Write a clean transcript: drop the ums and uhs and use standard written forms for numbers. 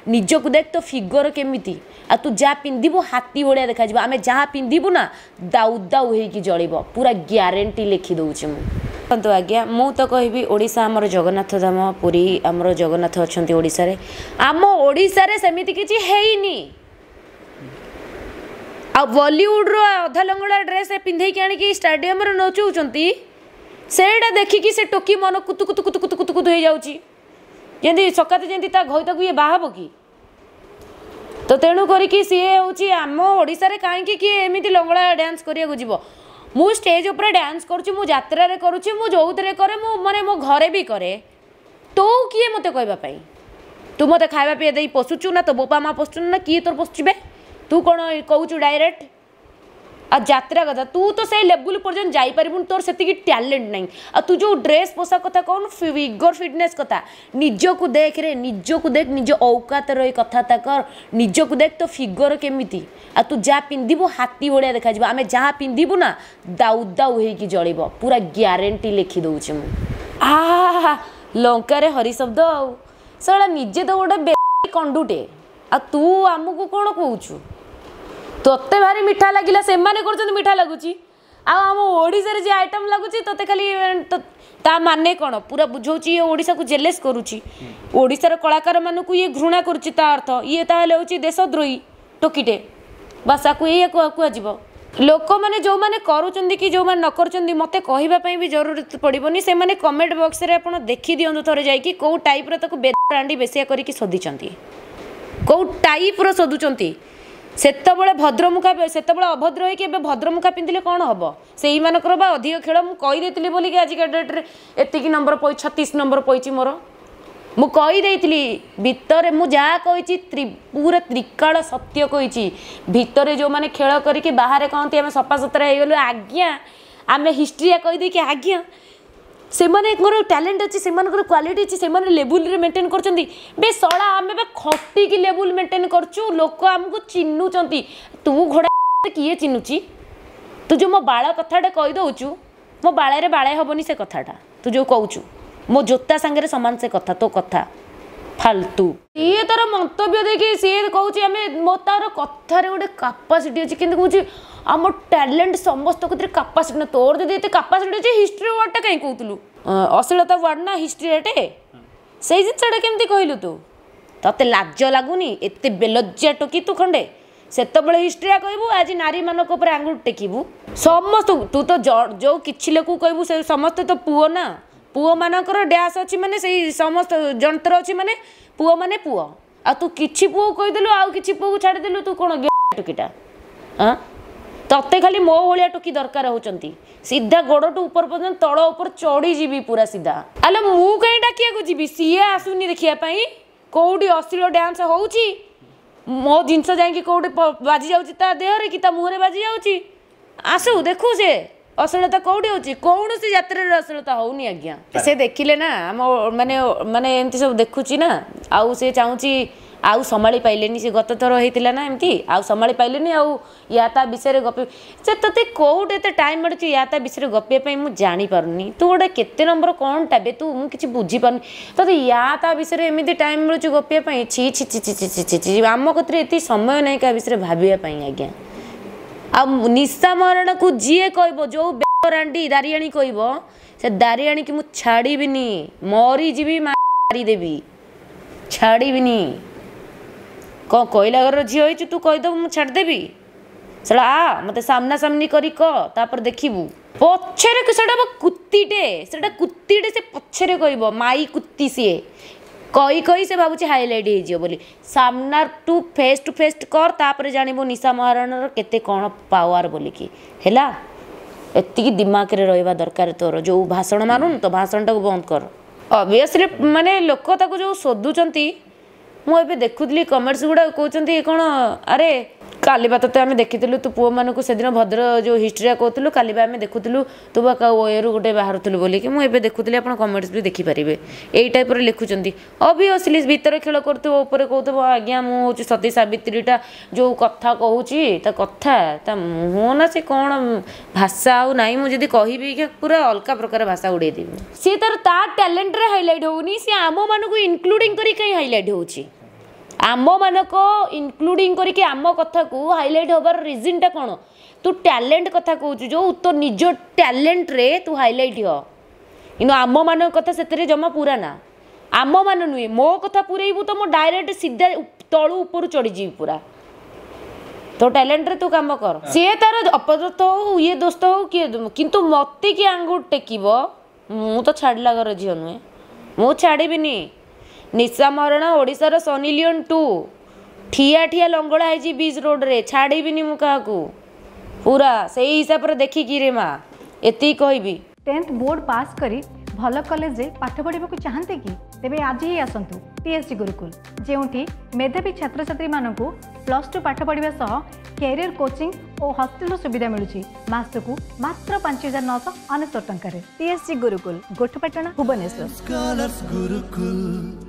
ନିଜକୁ ଦେଖ, ତୋ ଫିଗର କେମିତି, ଆଉ ତୁ ଯାହା ପିନ୍ଧିବୁ ହାତୀ ଭଳିଆ ଦେଖାଯିବ। ଆମେ ଯାହା ପିନ୍ଧିବୁ ନା ଦାଉ ଦାଉ ହେଇକି ଜଳିବ, ପୁରା ଗ୍ୟାରେଣ୍ଟି ଲେଖି ଦେଉଛି ମୁଁ। ଦେଖନ୍ତୁ ଆଜ୍ଞା, ମୁଁ ତ କହିବି ଓଡ଼ିଶା ଆମର ଜଗନ୍ନାଥ ଧାମ, ପୁରୀ ଆମର ଜଗନ୍ନାଥ ଅଛନ୍ତି ଓଡ଼ିଶାରେ। ଆମ ଓଡ଼ିଶାରେ ସେମିତି କିଛି ହେଇନି। ଆଉ ବଲିଉଡ଼ର ଅଧା ଲଙ୍ଗଳା ଡ୍ରେସ୍ ପିନ୍ଧେଇକି ଆଣିକି ଷ୍ଟାଡ଼ିୟମରେ ନଚଉଛନ୍ତି, ସେଇଟା ଦେଖିକି ସେ ଟୋକି ମନ କୁତୁ କୁତୁ କୁତୁ କୁତୁ କୁତୁ କୁତୁ ହେଇଯାଉଛି, ଯେମିତି ସକାତେ ଯେମିତି ତା ଘଇତାକୁ ଇଏ ବାହା ହବ କି। ତ ତେଣୁ କରିକି ସିଏ ହେଉଛି ଆମ ଓଡ଼ିଶାରେ କାହିଁକି କିଏ ଏମିତି ଲଙ୍ଗଳା ଡ୍ୟାନ୍ସ କରିବାକୁ ଯିବ? ମୁଁ ଷ୍ଟେଜ୍ ଉପରେ ଡ୍ୟାନ୍ସ କରୁଛି, ମୁଁ ଯାତ୍ରାରେ କରୁଛି, ମୁଁ ଯେଉଁଥିରେ କରେ, ମୁଁ ମାନେ ମୋ ଘରେ ବି କରେ। ତୁ କିଏ ମୋତେ କହିବା ପାଇଁ? ତୁ ମୋତେ ଖାଇବା ପିଇବା ଦେଇ ପୋଷୁଛୁ ନା ତୋ ବୋପା ମା ପୋଷୁଛୁ ନା କିଏ ତୋର ପୋଷୁଛି ବେ? ତୁ କ'ଣ କହୁଛୁ ଡାଇରେକ୍ଟ? ଆଉ ଯାତ୍ରା କଥା, ତୁ ତ ସେଇ ଲେବୁଲ୍ ପର୍ଯ୍ୟନ୍ତ ଯାଇପାରିବୁନି, ତୋର ସେତିକି ଟ୍ୟାଲେଣ୍ଟ ନାହିଁ। ଆଉ ତୁ ଯେଉଁ ଡ୍ରେସ୍ ପୋଷାକ କଥା କହୁନୁ, ଫିଗର ଫିଟନେସ୍ କଥା, ନିଜକୁ ଦେଖରେ, ନିଜକୁ ଦେଖ, ନିଜ ଔକାତ ରହି କଥାବାର୍ତ୍ତା କର। ନିଜକୁ ଦେଖ, ତୋ ଫିଗର କେମିତି, ଆଉ ତୁ ଯାହା ପିନ୍ଧିବୁ ହାତୀ ଭଳିଆ ଦେଖାଯିବ। ଆମେ ଯାହା ପିନ୍ଧିବୁ ନା ଦାଉ ଦାଉ ହେଇକି ଜଳିବ, ପୁରା ଗ୍ୟାରେଣ୍ଟି ଲେଖି ଦେଉଛି ମୁଁ। ଆ ଲଙ୍କାରେ ହରି ଶବ୍ଦ। ଆଉ ଶଳା ନିଜେ ତ ଗୋଟେ ବେ କଣ୍ଡୁଟେ, ଆଉ ତୁ ଆମକୁ କ'ଣ କହୁଛୁ? ତୋତେ ଭାରି ମିଠା ଲାଗିଲା, ସେମାନେ କରୁଛନ୍ତି ମିଠା ଲାଗୁଛି, ଆଉ ଆମ ଓଡ଼ିଶାରେ ଯେ ଆଇଟମ୍ ଲାଗୁଛି ତୋତେ ଖାଲି। ତା ମାନେ କ'ଣ ପୁରା ବୁଝଉଛି? ଇଏ ଓଡ଼ିଶାକୁ ଜେଲେସ୍ କରୁଛି, ଓଡ଼ିଶାର କଳାକାରମାନଙ୍କୁ ଇଏ ଘୃଣା କରୁଛି। ତା ଅର୍ଥ ଇଏ ତାହେଲେ ହେଉଛି ଦେଶଦ୍ରୋହୀ ଟୋକିଟେ, ବାସ୍ ଆକୁ ଏଇଆ କୁହାଯିବ। ଲୋକମାନେ ଯେଉଁମାନେ କରୁଛନ୍ତି କି ଯେଉଁମାନେ ନ କରୁଛନ୍ତି, ମୋତେ କହିବା ପାଇଁ ବି ଜରୁରତ ପଡ଼ିବନି। ସେମାନେ କମେଣ୍ଟ ବକ୍ସରେ ଆପଣ ଦେଖିଦିଅନ୍ତୁ ଥରେ ଯାଇକି, କେଉଁ ଟାଇପ୍ର ତାକୁ ବେରାଣ୍ଡି ବେସିଆ କରିକି ଶୋଧିଛନ୍ତି, କେଉଁ ଟାଇପ୍ର ଶୋଧୁଛନ୍ତି। ସେତେବେଳେ ଭଦ୍ରମୁଖା, ସେତେବେଳେ ଅଭଦ୍ର ହେଇକି ଏବେ ଭଦ୍ରମୁଖା ପିନ୍ଧିଲେ କ'ଣ ହେବ? ସେଇମାନଙ୍କର ବା ଅଧିକ ଖେଳ। ମୁଁ କହିଦେଇଥିଲି ବୋଲିକି ଆଜିକା ଡେଟ୍ରେ ଏତିକି ନମ୍ବର ପଇ 36 ନମ୍ବର ପଇଛି ମୋର। ମୁଁ କହିଦେଇଥିଲି ଭିତରେ, ମୁଁ ଯାହା କହିଛି ପୁରା ତ୍ରିକାଳ ସତ୍ୟ କହିଛି। ଭିତରେ ଯେଉଁମାନେ ଖେଳ କରିକି ବାହାରେ କହନ୍ତି ଆମେ ସଫାସୁତୁରା ହେଇଗଲୁ ଆଜ୍ଞା, ଆମେ ହିଷ୍ଟ୍ରିଆ କହିଦେଇକି ଆଜ୍ଞା, ସେମାନଙ୍କର ଟ୍ୟାଲେଣ୍ଟ ଅଛି, ସେମାନଙ୍କର କ୍ୱାଲିଟି ଅଛି, ସେମାନେ ଲେବୁଲରେ ମେଣ୍ଟେନ୍ କରୁଛନ୍ତି। ବେ ଶଳା, ଆମେ ବା ଖଟିକି ଲେବୁଲ ମେଣ୍ଟେନ୍ କରୁଛୁ, ଲୋକ ଆମକୁ ଚିହ୍ନୁଛନ୍ତି। ତୁ ଘୋଡ଼ା କିଏ ଚିହ୍ନୁଛି? ତୁ ଯେଉଁ ମୋ ବାଳ କଥାଟା କହିଦେଉଛୁ, ମୋ ବାଳରେ ବାଳେ ହେବନି ସେ କଥାଟା। ତୁ ଯେଉଁ କହୁଛୁ ମୋ ଜୋତା ସାଙ୍ଗରେ ସମାନ ସେ କଥା, ତୋ କଥା ଫାଲତୁ। ସିଏ ତାର ମନ୍ତବ୍ୟ ଦେଇକି ସିଏ କହୁଛି ଆମେ, ମୋ ତାର କଥାରେ ଗୋଟେ କାପାସିଟି ଅଛି, କିନ୍ତୁ କହୁଛି ଆମ ଟ୍ୟାଲେଣ୍ଟ ସମସ୍ତ କତିରେ କାପାସିଟି ନା। ତୋର ଯଦି ଏତେ କାପାସିଟି ଅଛି, ହିଷ୍ଟ୍ରି ୱାର୍ଡ଼ଟା କାହିଁ କହୁଥିଲୁ? ଅଶ୍ଳୀଳତା ୱାର୍ଡ଼ ନା ହିଷ୍ଟ୍ରିଟେ, ସେଇ ଜିନିଷଟା କେମିତି କହିଲୁ ତୁ? ତତେ ଲାଜ ଲାଗୁନି? ଏତେ ବେଲଜ୍ଜା ଟୋକି ତୁ ଖଣ୍ଡେ। ସେତେବେଳେ ହିଷ୍ଟ୍ରିଆ କହିବୁ, ଆଜି ନାରୀମାନଙ୍କ ଉପରେ ଆଙ୍ଗୁଠି ଟେକିବୁ ସମସ୍ତଙ୍କୁ। ତୁ ତ ଯେଉଁ କିଛି ଲୋକକୁ କହିବୁ ସେ ସମସ୍ତେ ତ ପୁଅ ନା, ପୁଅମାନଙ୍କର ଡ୍ୟାସ୍ ଅଛି, ମାନେ ସେଇ ସମସ୍ତ ଯନ୍ତ୍ର ଅଛି, ମାନେ ପୁଅ ମାନେ ପୁଅ। ଆଉ ତୁ କିଛି ପୁଅକୁ କହିଦେଲୁ ଆଉ କିଛି ପୁଅକୁ ଛାଡ଼ିଦେଲୁ, ତୁ କ'ଣ ଟୋକିଟା? ଆଁ ତତେ ଖାଲି ମୋ ଭଳିଆ ଟୋକି ଦରକାର ହେଉଛନ୍ତି। ସିଧା ଗୋଡ଼ଠୁ ଉପର ପର୍ଯ୍ୟନ୍ତ ତଳ ଉପରେ ଚଢ଼ିଯିବି ପୁରା ସିଧା। ଆଲୋ ମୁଁ କାହିଁ ଡାକିବାକୁ ଯିବି? ସିଏ ଆସୁନି ଦେଖିବା ପାଇଁ। କେଉଁଠି ଅଶ୍ଳୀଳ ଡ୍ୟାନ୍ସ ହେଉଛି, ମୋ ଜିନିଷ ଯାଇକି କେଉଁଠି ବାଜି ଯାଉଛି ତା ଦେହରେ କି ତା ମୁହଁରେ ବାଜି ଯାଉଛି, ଆସୁ ଦେଖୁ ସେ ଅଶ୍ଳୀଳତା କେଉଁଠି ହେଉଛି। କୌଣସି ଯାତ୍ରାରେ ଅଶ୍ଳୀଳତା ହେଉନି ଆଜ୍ଞା। ସେ ଦେଖିଲେ ନା ଆମ ମାନେ ମାନେ ଏମିତି ସବୁ ଦେଖୁଛି ନା, ଆଉ ସେ ଚାହୁଁଛି, ଆଉ ସମ୍ଭାଳି ପାଇଲେନି ସେ। ଗତ ଥର ହେଇଥିଲା ନା ଏମିତି, ଆଉ ସମ୍ଭାଳି ପାଇଲେନି। ଆଉ ୟା ତା ବିଷୟରେ ଗପି ସେ ତୋତେ କେଉଁଠି ଏତେ ଟାଇମ୍ ମିଳୁଛି ୟା ତା ବିଷୟରେ ଗପିବା ପାଇଁ? ମୁଁ ଜାଣିପାରୁନି ତୁ ଗୋଟେ କେତେ ନମ୍ବର କ'ଣଟା ବେ ତୁ, ମୁଁ କିଛି ବୁଝିପାରୁନି। ତୋତେ ୟା ତା ବିଷୟରେ ଏମିତି ଟାଇମ୍ ମିଳୁଛି ଗପିବା ପାଇଁ? ଛି ଛି ଛି ଛି ଛି ଛି ଛି। ଆମ କତିରେ ଏତିକି ସମୟ ନାହିଁ କାହା ବିଷୟରେ ଭାବିବା ପାଇଁ ଆଜ୍ଞା। ଆଉ ନିଶା ମରଣକୁ ଯିଏ କହିବ, ଯେଉଁ ରାଣ୍ଡି ଦାରିଆଣୀ କହିବ, ସେ ଦାରିଆଣୀକି ମୁଁ ଛାଡ଼ିବିନି, ମରିଯିବି ମାରିଦେବି, ଛାଡ଼ିବିନି। କ'ଣ କହିଲା ଘରର ଝିଅ ହେଇଛୁ ତୁ କହିଦେବୁ ମୁଁ ଛାଡ଼ିଦେବି? ଶଳା ଆ ମୋତେ ସାମ୍ନାସାମ୍ନି କରି କହ, ତାପରେ ଦେଖିବୁ। ପଛରେ ସେଟା କୁତିଟେ, ସେଟା କୁତିଟେ, ସେ ପଛରେ କହିବ ମାଇ କୁତି। ସିଏ କହି କହି ସେ ଭାବୁଛି ହାଇଲାଇଟ୍ ହେଇଯିବ ବୋଲି। ସାମ୍ନା ଟୁ ଫେସ୍ ଟୁ ଫେସ୍ କର, ତାପରେ ଜାଣିବୁ ନିଶା ମହାରଣାର କେତେ କ'ଣ ପାୱାର ବୋଲିକି। ହେଲା, ଏତିକି ଦିମାଗରେ ରହିବା ଦରକାର ତୋର। ଯେଉଁ ଭାଷଣ ମାରୁନୁ, ତ ଭାଷଣଟାକୁ ବନ୍ଦ କର। ଅବଭିୟସଲି ମାନେ ଲୋକ ତାକୁ ଯେଉଁ ଶୋଧୁଛନ୍ତି, ମୁଁ ଏବେ ଦେଖୁଥିଲି କମେଣ୍ଟସ୍ ଗୁଡ଼ାକ, କହୁଛନ୍ତି କ'ଣ, ଆରେ କାଲି ବା ତୋତେ ଆମେ ଦେଖିଥିଲୁ, ତୁ ପୁଅମାନଙ୍କୁ ସେଦିନ ଭଦ୍ର ଯେଉଁ ହିଷ୍ଟ୍ରିଆ କହୁଥିଲୁ, କାଲି ବା ଆମେ ଦେଖୁଥିଲୁ ତୁ ବା ଓଏରୁ ଗୋଟେ ବାହାରୁଥିଲୁ ବୋଲିକି। ମୁଁ ଏବେ ଦେଖୁଥିଲି, ଆପଣ କମେଣ୍ଟସ୍ ବି ଦେଖିପାରିବେ, ଏଇ ଟାଇପ୍ର ଲେଖୁଛନ୍ତି। ଅବଭିୟସଲି ଭିତରେ ଖେଳ କରୁଥିବ, ଉପରେ କହୁଥିବ ଆଜ୍ଞା ମୁଁ ହେଉଛି ସତୀ ସାବିତ୍ରୀଟା। ଯେଉଁ କଥା କହୁଛି, ତା କଥା, ତା ମୁହଁ ନା ସେ କ'ଣ ଭାଷା ଆଉ ନାହିଁ। ମୁଁ ଯଦି କହିବି ପୁରା ଅଲଗା ପ୍ରକାର ଭାଷା ଉଡ଼େଇଦେବି। ସିଏ ତାର ତା ଟ୍ୟାଲେଣ୍ଟରେ ହାଇଲାଇଟ୍ ହେଉନି, ସିଏ ଆମମାନଙ୍କୁ ଇନକ୍ଲୁଡ଼ିଂ କରି କାହିଁ ହାଇଲାଇଟ୍ ହେଉଛି? ଆମମାନଙ୍କ ଇନକ୍ଲୁଡ଼ିଂ କରିକି ଆମ କଥାକୁ ହାଇଲାଇଟ୍ ହେବାର ରିଜନ୍ଟା କ'ଣ? ତୁ ଟ୍ୟାଲେଣ୍ଟ କଥା କହୁଛୁ ଯେଉଁ, ତୋ ନିଜ ଟ୍ୟାଲେଣ୍ଟରେ ତୁ ହାଇଲାଇଟ୍ ହ, କିନ୍ତୁ ଆମମାନଙ୍କ କଥା ସେଥିରେ ଜମା ପୁରା ନା। ଆମମାନ ନୁହେଁ, ମୋ କଥା ପୁରେଇବୁ ତ ମୁଁ ଡାଇରେକ୍ଟ ସିଧା ତଳୁ ଉପରୁ ଚଢ଼ିଯିବି ପୁରା। ତୋ ଟ୍ୟାଲେଣ୍ଟରେ ତୁ କାମ କର। ସିଏ ତାର ଅପଦସ୍ଥ ହଉ, ଇଏ ଦୋସ୍ତ ହଉ, କିଏ, କିନ୍ତୁ ମୋତେ କିଏ ଆଙ୍ଗୁଠି ଟେକିବ, ମୁଁ ତ ଛାଡ଼ିଲା ଘର ଝିଅ ନୁହେଁ, ମୁଁ ଛାଡ଼ିବିନି। ନିଶା ମହାରଣା ଓଡ଼ିଶାର ସନି ଲିଓନ୍ 2, ଠିଆ ଠିଆ ଲଙ୍ଗଳା ହେଇଛି ବିଚ୍ ରୋଡ଼ରେ, ଛାଡ଼ିବିନି ମୁଁ କାହାକୁ ପୁରା ସେଇ ହିସାବରେ ଦେଖିକି ରେ ମା, ଏତିକି କହିବି। 10th board pass କରି ଭଲ କଲେଜରେ ପାଠ ପଢ଼ିବାକୁ ଚାହାନ୍ତି କି? ତେବେ ଆଜି ହିଁ ଆସନ୍ତୁ ଟିଏସ୍ଜି ଗୁରୁକୁଲ, ଯେଉଁଠି ମେଧାବୀ ଛାତ୍ରଛାତ୍ରୀମାନଙ୍କୁ +2 ପାଠ ପଢ଼ିବା ସହ କ୍ୟାରିୟର କୋଚିଂ ଓ ହଷ୍ଟେଲର ସୁବିଧା ମିଳୁଛି ମାସକୁ ମାତ୍ର 5999 ଟଙ୍କାରେ। TSG gurukul, Gothapatna, Bhubaneswar. Scholars Gurukul.